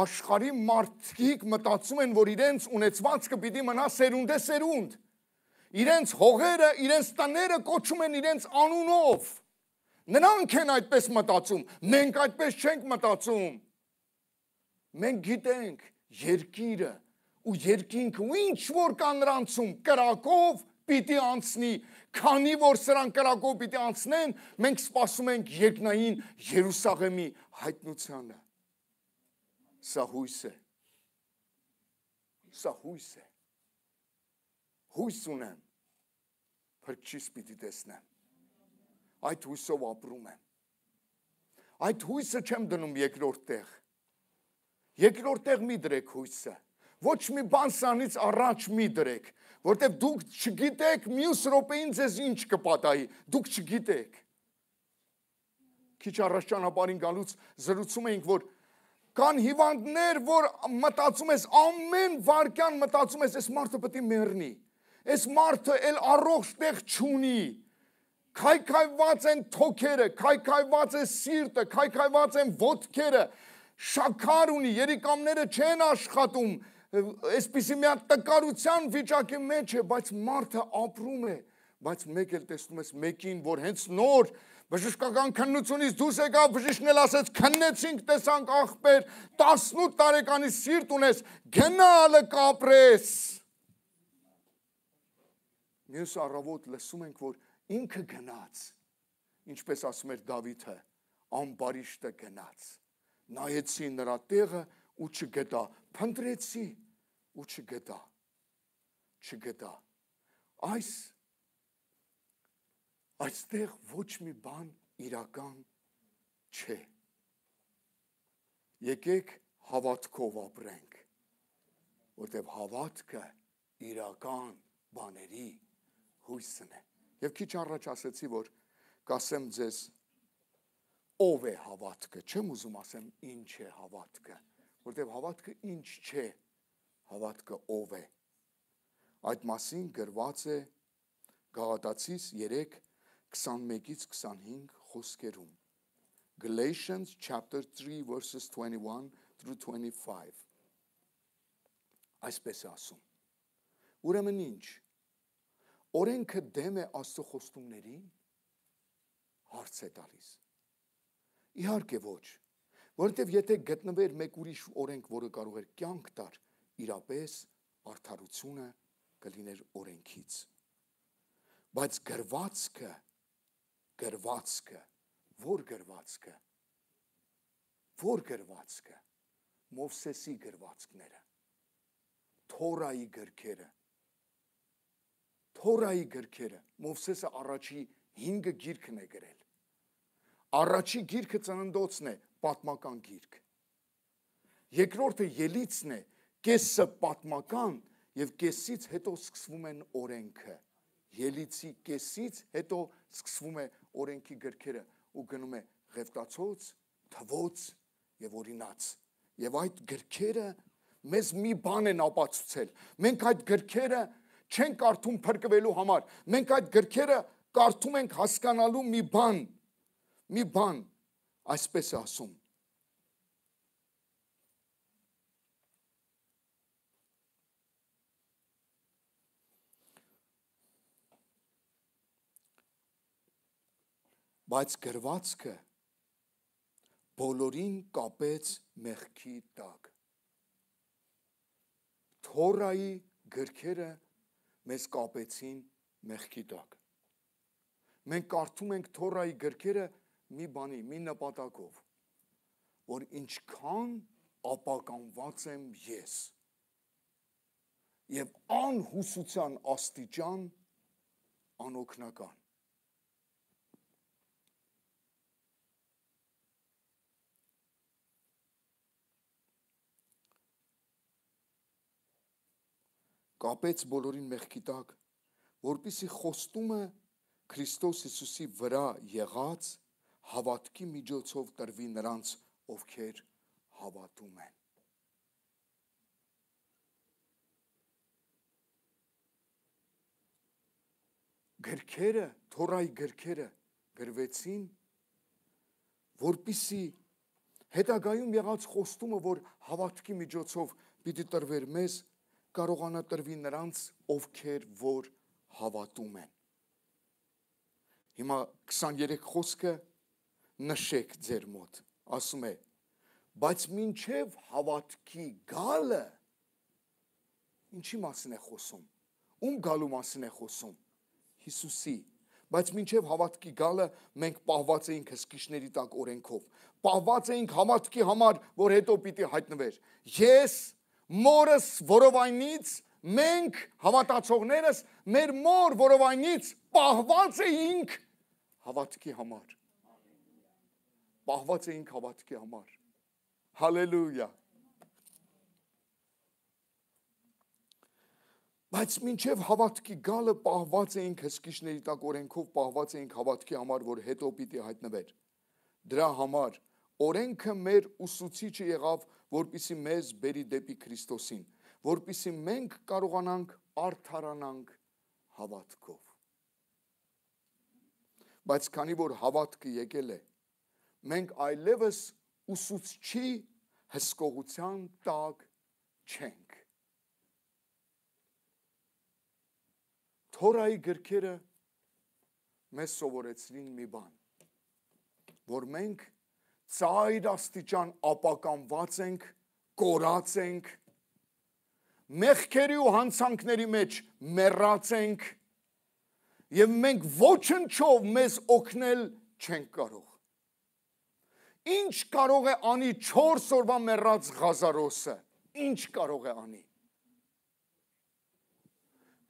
աշխարհի մարդիկ մտածում են, որ իրենց ունեցվածքը պիտի մնա սերունդ է սերունդ, իրենց հողերը, իրենց տները կոչում են իրենց անունով, նրանք են այդպես մտածում, մենք այդպես չենք մտածում, մենք գիտենք երկիրը ու երկինքը ու ինչ որ կա նրանցում կրակով պիտի անցնի, քանի որ սրանք կրակով պիտի անցնեն, մենք սպասում ենք երկնային Երուսաղեմի հայտնությանը։ Սա հույս է։ Սա հույս է։ Հույս ունեմ, փրկչիս պիտի տեսնեմ, այդ հույսով ապրում եմ, այդ հույսը չեմ դնում երկրորդ տեղ, երկրորդ տեղ մի դրեք հույսը, ոչ մի բան սրանից առաջ մի դրեք, որտև դուք չգիտեք մյուս րոպեին ձեզ ինչ կպատահի, դուք չգիտեք, քիչ առաջ ճանապարհին գալուց զրուցում էինք, որ կան հիվանդներ, որ մտածում ես ամեն վարքյան մտածում ես, այս մարդը պետք է մեռնի, այս մարդը էլ առողջ տեղ չունի, քայքայված են թոքերը, քայքայված է սիրտը, քայքայված են ոտքերը, շաքար ունի, երիկամները չեն աշխատում, այսպիսի մի հատ տկարության վիճակի մեջ է, բայց մարդը ապրում է, բայց մեկ էլ տեսնում ես մեկին, որ հենց նոր բժշկական քննությունից դուրս եկավ, բժիշկն էլ ասեց, քննեցինք, տեսանք ախպեր, տասնութ տարեկանի սիրտ ունես, գնալը կապրես։ Մյուս առավոտ լսում ենք, որ ինքը գնաց, ինչպես ասում էր Դավիթը, ամբարիշտը գնաց, նայեցի նրա տեղը ու չգտա, փնտրեցի ու չգտա, չգտա, այս, այստեղ ոչ մի բան իրական չէ, եկեք հավատքով ապրենք, որտև հավատքը իրական բաների հույսն է, և քիչ առաջ ասեցի, որ կասեմ ձեզ, ով է հավատքը, չեմ ուզում ասեմ ինչ է հավատքը, որտև հավատքը ինչ չէ, հավատքը ով է, այդ մասին գրված է Գաղատացիս երեք քսանմեկից քսանհինգ խոսքերում, Galatians chapter three verses twenty-one through twenty-five, այսպես է ասում, ուրեմն ինչ, օրենքը դեմ է Աստծո խոստումներին, հարց է տալիս, իհարկե ոչ, որովհետև եթե գտնվեր մեկ ուրիշ օրենք, որը կարող էր կյանք տար, իրապես արդարությունը կլիներ օրենքից, բայց գրվածքը, գրվածքը, որ գրվածքը, որ գրվածքը, Մովսեսի գրվածքները, Թորայի գրքերը, Թորայի գրքերը, Մովսեսը առաջի հինգը գիրքն է գրել, առաջի գիրքը ծննդոցն է, պատմական գիրք, Երկրորդը ելիցն է, կեսը պատմական եւ կեսից հետո սկսվում են օրենքը։ Ելիցի կեսից հետո սկսվում է օրենքի գրքերը ու գնում է Ղևտացոց, Թվոց եւ Օրինաց։ Եվ այդ գրքերը մեզ մի բան են ապացուցել։ Մենք այդ գրքերը չենք կարդում փրկվելու համար։ Մենք այդ գրքերը կարդում ենք հասկանալու մի բան, մի բան, այսպես է ասում։ Բայց գրվածքը բոլորին կապեց մեղքի տակ։ Թորայի գրքերը մեզ կապեցին մեղքի տակ։ Մենք կարդում ենք Թորայի գրքերը մի բանի, մի նպատակով, որ ինչքան ապականված եմ ես եւ անհուսության աստիճան անօգնական։ Կապեց բոլորին մեղքի տակ, որպեսզի խոստումը Քրիստոս Հիսուսի վրա եղած հավատքի միջոցով տրվի նրանց, ովքեր հավատում են։ Գրքերը, Թորայի գրքերը գրվեցին, որպեսզի հետագայում եղած խոստումը, որ հավատքի միջոցով պիտի տրվեր մեզ, կարողանա տրվի նրանց, ովքեր որ հավատում են։ Հիմա քսաներեք խոսքը նշեք ձեր մոտ, ասում է, բայց մինչև հավատքի գալը, ինչի մասին է խոսում, ում գալու մասին է խոսում, Հիսուսի, բայց մինչև հավատքի գալը մենք պահված էինք հսկիչների տակ օրենքով, պահված էինք հավատքի համար, որ հետո պիտի հայտնվեր։ Ես մորս որովայնից, մենք հավատացողներս, մեր մոր որովայնից պահված էինք հավատքի համար։ Պահված էինք հավատքի համար։ Հալելույա։ Բայց մինչև հավատքի գալը պահված էինք հսկիչների տակ օրենքով, պահված էինք հավատքի համար, որ հետո պիտի հայտնվեր։ Դրա համար օրենքը մեր ուսուցիչը եղավ, որպեսզի մեզ բերի դեպի Քրիստոսին, որպեսզի մենք կարողանանք արդարանանք հավատքով։ Բայց քանի որ հավատքը եկել է, մենք այլևս ուսուցչի հսկողության տակ չենք։ Թորայի գրքերը մեզ սովորեցրին մի բան, որ մենք ծայր աստիճան ապականված ենք, կորած ենք, մեղքերի ու հանցանքների մեջ մեռած ենք եւ մենք ոչնչով մեզ օգնել չենք կարող։ Ինչ կարող է անի չորս օրվա մեռած Ղազարոսը, ինչ կարող է անի։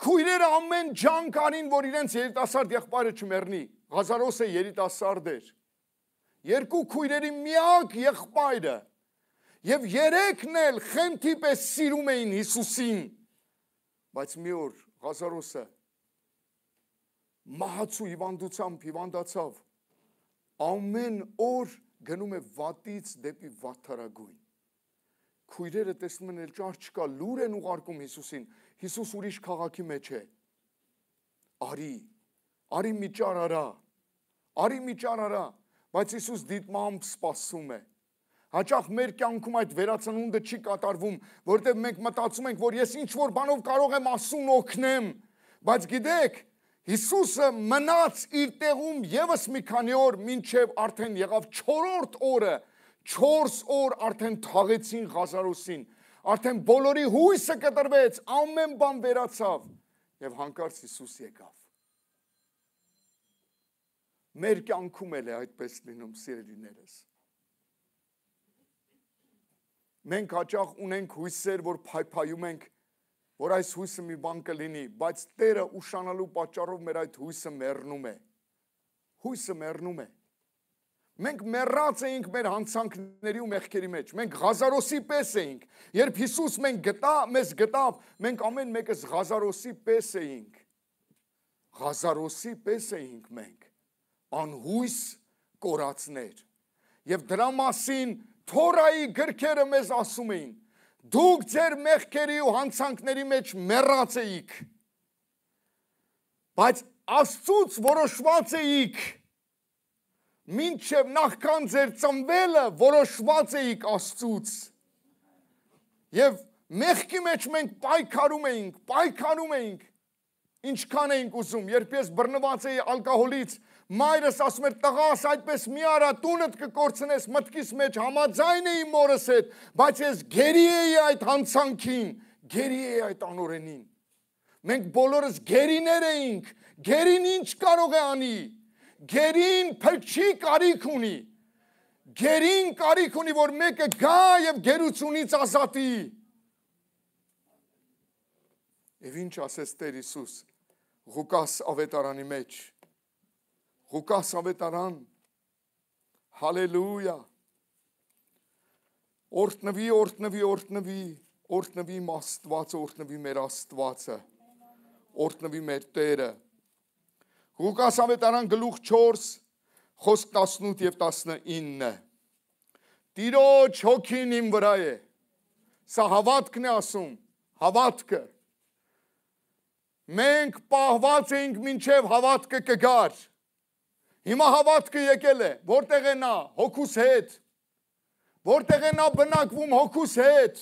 Քույրերը ամեն ջանք արին, որ իրենց երիտասարդ եղբայրը չմեռնի։ Ղազարոսը երիտասարդ էր։ Երկու քույրերի միակ եղբայրը եւ երեքն էլ խենթի պես սիրում էին Հիսուսին, բայց մի օր Ղազարոսը մահացու հիվանդությամբ հիվանդացավ, ամեն օր գնում է վատից դեպի վատթարագույն։ Քույրերը տեսնում են էլ ճար չկա, լուր են ուղարկում Հիսուսին, Հիսուս ուրիշ քաղաքի մեջ է։ Արի, արի մի ճար արա, արի մի ճար արա, բայց Հիսուս դիտմամբ սպասում է։ Հաճախ մեր կյանքում այդ վերածնունդը չի կատարվում, որտեղ մենք մտածում ենք, որ ես ինչ որ բանով կարող եմ ասուն օգնեմ, բայց գիտեք, Հիսուսը մնաց իր տեղում եւս մի քանի օր, մինչև արդեն եղավ չորրորդ օրը, չորս օր արդեն թաղեցին Ղազարոսին, արդեն բոլորի հույսը կտրվեց, ամեն բան վերացավ եւ հանկարծ Հիսուս եկավ։ Մեր կյանքում էլ է այդպես լինում, սիրելիներս։ Մենք հաճախ ունենք հույսեր, որ փայփայում ենք, որ այս հույսը մի բան կլինի, բայց Տերը ուշանալու պատճառով մեր այդ հույսը մեռնում է։ Հույսը մեռնում է։ Մենք մեռած էինք մեր հանցանքների ու մեղքերի մեջ։ Մենք Ղազարոսի պես էինք։ Երբ Հիսուս մենք գտա, մեզ գտավ, մենք ամեն մեկս Ղազարոսի պես էինք։ Ղազարոսի պես էինք մենք, անհույս կորածներ։ Եվ դրա մասին Թորայի գրքերը մեզ ասում էին. դուք ձեր մեղքերի ու հանցանքների մեջ մեռած էիք, բայց Աստծուց որոշված էիք, մինչև նախքան ձեր ծնվելը որոշված էիք Աստծուց։ Եվ մեղքի մեջ մենք պայքարում էինք, պայքարում էինք, ինչքան էինք ուզում։ Երբ ես բռնված էի ալկոհոլից, մայրս ասում էր տղաս այդպես մի արա, տունդ կկորցնես, մտքիս մեջ համաձայն էի մորս հետ, բայց ես գերի էի այդ հանցանքին, գերի էի այդ անօրենին։ Մենք բոլորս գերիներ էինք, գերին ինչ կարող է անի, գերին փրկչի կարիք ունի, գերին կարիք ունի, որ մեկը գա և գերությունից ազատի։ Եվ ինչ ասեց Տեր Հիսուս Ղուկաս ավետարանի մեջ, Ղուկաս ավետարան, հալելույա, օրհնվի, օրհնվի, օրհնվի, օրհնվի իմ Աստվածը, օրհնվի մեր Աստվածը, օրհնվի մեր Տերը։ Ղուկաս ավետարան գլուխ չորս, խոսք տասնութ և տասնինը։ Տիրոջ հոգին իմ վրա է։ Սա հավատքն է ասում, հավատքը։ Մենք պահված էինք մինչև հավատքը կգար։ Հիմա հավատքը եկել է, որտեղ է նա, հոգուս հետ, որտեղ է նա բնակվում հոգուս հետ,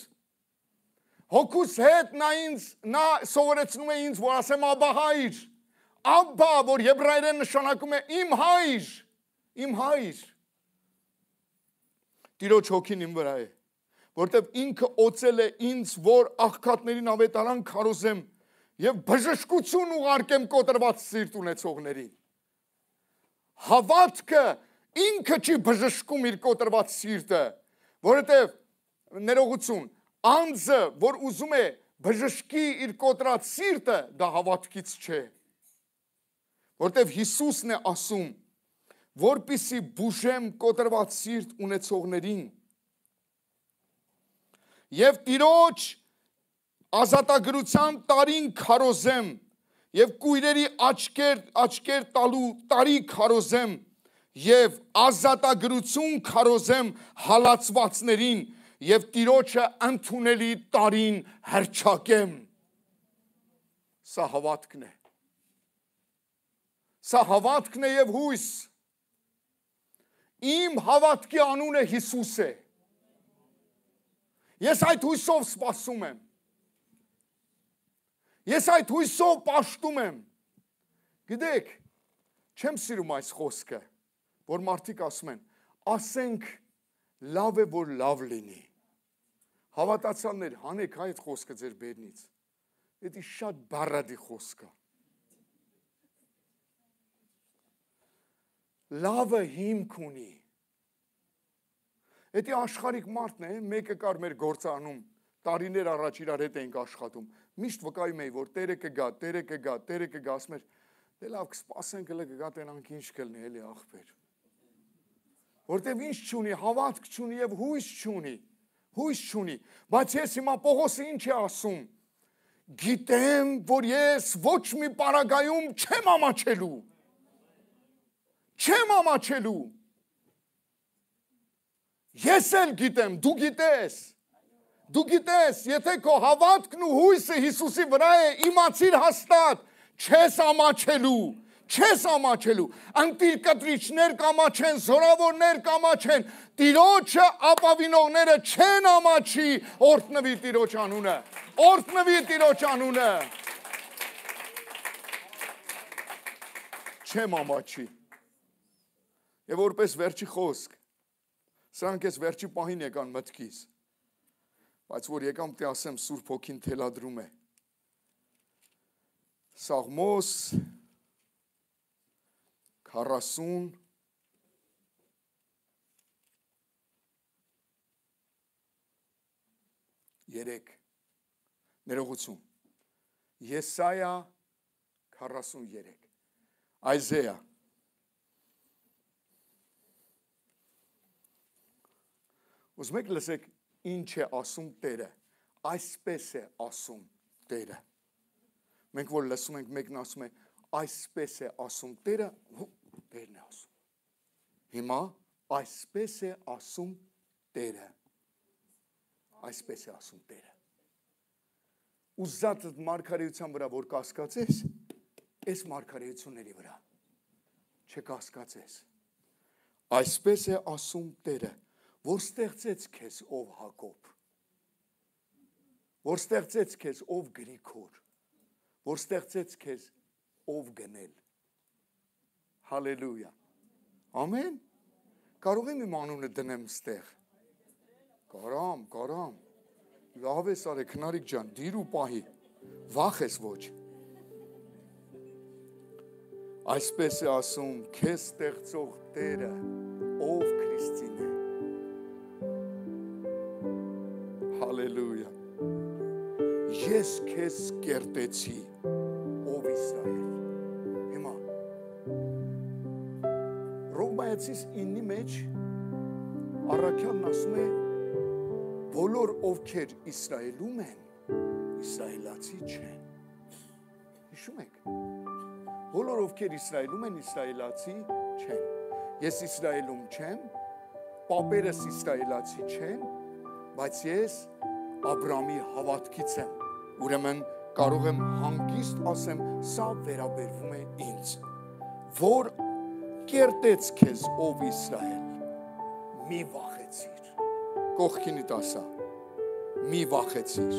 հոգուս հետ նա ինձ, նա սովորեցնում է ինձ, որ ասեմ աբա հայր, աբա, որ եբրայերեն նշանակում է իմ հայր, իմ հայր, Տիրոջ հոգին իմ վրա է, որտև ինքը օծել է ինձ, որ աղքատներին ավետարան քարոզեմ և բժշկություն ուղարկեմ կոտրված սիրտ ունեցողներին։ Հավատքը ինքը չի բժշկում իր կոտրված սիրտը, որովհետև ներողություն, անձը, որ ուզում է բժշկի իր կոտրած սիրտը, դա հավատքից չէ։ Որովհետև Հիսուսն է ասում, որպեսզի բուժեմ կոտրված սիրտ ունեցողներին և Տիրոջ ազատագրության տարին քարոզեմ և կույրերի աչքեր, աչքեր տալու տարի քարոզեմ և ազատագրություն քարոզեմ հալածվածներին և Տիրոջը ընդունելի տարին հռչակեմ։ Սա հավատքն է։ Սա հավատքն է և հույս։ Իմ հավատքի անունը Հիսուս է։ Ես այդ հույսով սպասում եմ։ Ես այդ հույսով պաշտում եմ։ Գիտեք, չեմ սիրում այս խոսքը, որ մարդիկ ասում են, ասենք լավ է, որ լավ լինի։ Հավատացյալներ, հանեք այդ խոսքը ձեր բերնից։ Դա շատ բառադի խոսք է։ Լավը հիմք ունի։ Դա աշխարհիկ մարդն է, մեկը կար մեր գործանում, տարիներ առաջ իրար հետ էինք աշխատում։ Միշտ վկայում էի, որ Տերը կգա, Տերը կգա, Տերը կգա, ասում էր, դե լավ կսպասենք, հələ կգա, տենանք ինչ կլինի, էլի ախպեր։ Որտեւ ինչ չունի, հավատք չունի եւ հույս չունի, հույս չունի։ Բայց ես հիմա Պողոսը ինչ է ասում։ Գիտեմ, որ ես ոչ մի պարագայում չեմ ամաչելու։ Չեմ ամաչելու։ Ես էլ գիտեմ, դու գիտես։ Դու գիտես, եթե քո հավատքն ու հույսը Հիսուսի վրա է, իմացիր հաստատ, չես ամաչելու, չես ամաչելու։ Ընտիր կտրիչներ կամաչեն, զորավորներ կամաչեն, Տիրոջը ապավինողները չեն ամաչի, օրհնվի Տիրոջ անունը, օրհնվի Տիրոջ անունը։ Չեմ ամաչի։ Եվ որպես վերջի խոսք, սրանք ես վերջի պահին եկան մտքիս, բայց որ եկամ թե ասեմ Սուրբ Հոգին թելադրում է։ Սաղմոս քառասուն երեք ներողություն Եսայա քառասուն երեք Այզեա Ուզում եք լսեք ինչ է ասում Տերը։ Այսպես է ասում Տերը։ Մենք որ լսում ենք, մեկն ասում է, այսպես է ասում Տերը, Տերն է ասում։ Հիմա այսպես է ասում Տերը։ Այսպես է ասում Տերը։ Ուզած մարգարեության վրա որ կասկածես, այս մարգարեությունների վրա չկասկածես։ Այսպես է ասում Տերը, որ ստեղծեց քեզ ով Հակոբ, որ ստեղծեց քեզ ով Գրիգոր, որ ստեղծեց քեզ ով գնել։ Հալելույա։ Ամեն։ Կարող եմ իմ անունը դնեմ ստեղ։ Կարամ, կարամ։ Լավ ես արեք, Քնարիկ ջան, դիր ու պահի։ Վախ ես ոչ։ Այսպես է ասում քեզ ստեղծող Տերը, ով Քրիստին է։ Հալելույա։ Ես քեզ կերտեցի, ով Իսրայել։ Հիմա Ռոմայացիս իննի մեջ առաքյալն ասում է, բոլոր ովքեր Իսրայելում են, իսրայելացի չեն։ Հիշում եք։ Բոլոր ովքեր Իսրայելում են, իսրայելացի չեն։ Ես Իսրայելում չեմ, պապերս իսրայելացի չեն, բայց ես Աբրամի հավատքից եմ։ Ուրեմն կարող եմ հանգիստ ասեմ, սա վերաբերվում է ինձ, որ կերտեց քեզ ով Իսրայել, մի վախեցիր, կողքինիդ ասա, մի վախեցիր,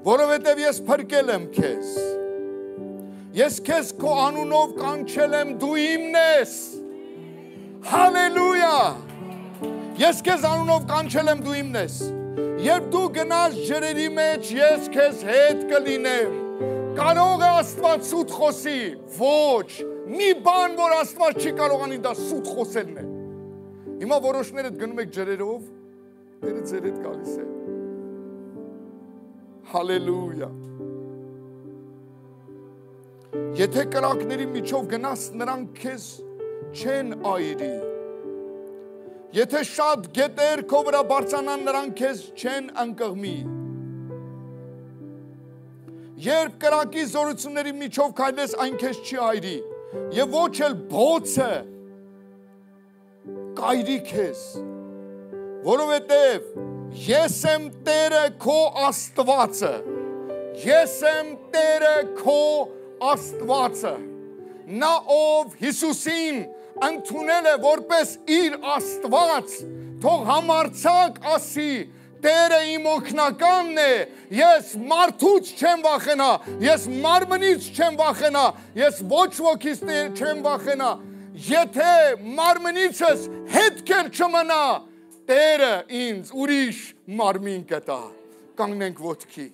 որովհետև ես փրկել եմ քեզ, ես քեզ քո անունով կանչել եմ, դու իմն ես, հալելույա, ես քեզ անունով կանչել եմ, դու իմն ես, երբ դու գնաս ջրերի մեջ, ես քեզ հետ կլինեմ, կարող է Աստված սուտ խոսի, ոչ, մի բան, որ Աստված չի կարողանի դա սուտ խոսելն է, հիմա որոշներդ գնում եք ջրերով, Տերը ձեր հետ գալիս է, հալելույա, եթե կրակների միջով գնաս, նրանք քեզ չեն այրի, եթե շատ գետեր քո վրա բարձրանան, նրանք քեզ չեն ընկղմի, երբ կրակի զորությունների միջով քայլես, այն քեզ չի այրի, եւ ոչ էլ բոցը կայրի քեզ, որովհետև ես եմ Տերը քո Աստվածը, ես եմ Տերը քո Աստվածը, նա ով Հիսուսին ընդունել է որպես իր Աստված, թող համարձակ ասի, Տերը իմ օգնականն է, ես մարդուց չեմ վախենա, ես մարմնից չեմ վախենա, ես ոչ ոքից չեմ վախենա, եթե մարմնիցս հետքեր չմնա, Տերը ինձ ուրիշ մարմին կտա, կանգնենք ոտքի,